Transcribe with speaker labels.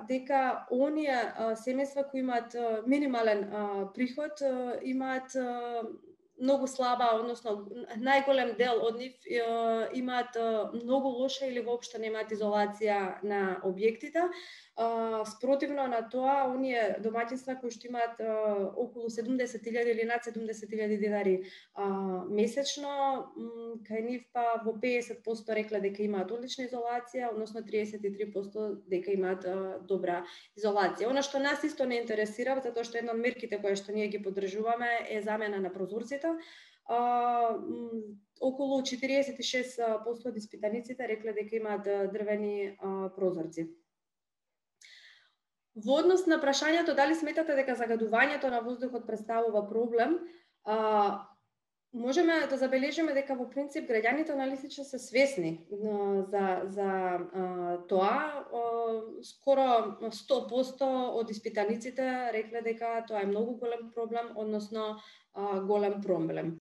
Speaker 1: дека оние семејства кои имаат минимален приход имаат многу слаба, односно најголем дел од нив имаат многу лоша или воопшто немаат изолација на објектите. Спротивно на тоа, оние домаќинства кои што имаат околу 70.000 или над 70.000 денари месечно, кај нив па во 50% рекле дека имаат одлична изолација, односно 33% дека имаат добра изолација. Она што нас исто не интересира, затоа што една од мерките кои што ние ги поддржуваме е замена на прозорците. Околу 46% од испитаниците рекле дека имаат дрвени прозорци. Во однос на прашањето дали сметате дека загадувањето на воздухот представува проблем, можеме да забележиме дека во принцип граѓаните на Лисича се свесни за тоа. Скоро 100% од испитаниците рекле дека тоа е многу голем проблем, односно голем проблем.